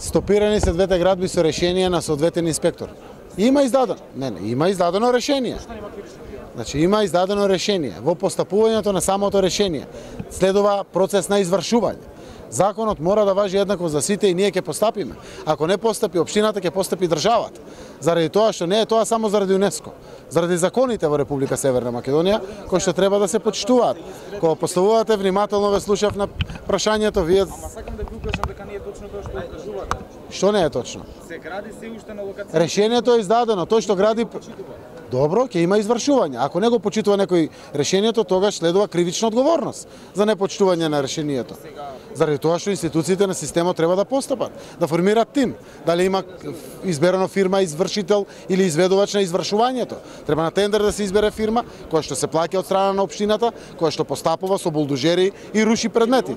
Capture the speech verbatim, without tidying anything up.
Стопирани се двете градби со решение на соодветен инспектор. Има издадено, не, не, има издадено решение. Значи има издадено решение. Во постапувањето на самото решение следува процес на извршување. Законот мора да важи еднакво за сите и ние ќе постапиме. Ако не постапи општината, ќе постапи државата. Заради тоа што не е тоа само заради ЮНЕСКО, заради законите во Република Северна Македонија, кои што треба да се почитуваат. Кога поставувате внимателно, ве слушав на прашањето, вие... Ама сакам да ви укажам дека не е точно тоа што кажувате. Што не е точно? Се гради се уште на локација. Решението е издадено, тој што гради... Добро, ќе има извршување. Ако не го почитува некој решението, тогаш следува кривична одговорност за непочитување на решението. Заради тоа што институциите на системот треба да постапат, да формираат тим. Дали има изберено фирма извршител или изведувач на извршувањето. Треба на тендер да се избере фирма која што се плаќа од страна на општината, која што постапува со булдожери и руши предмети.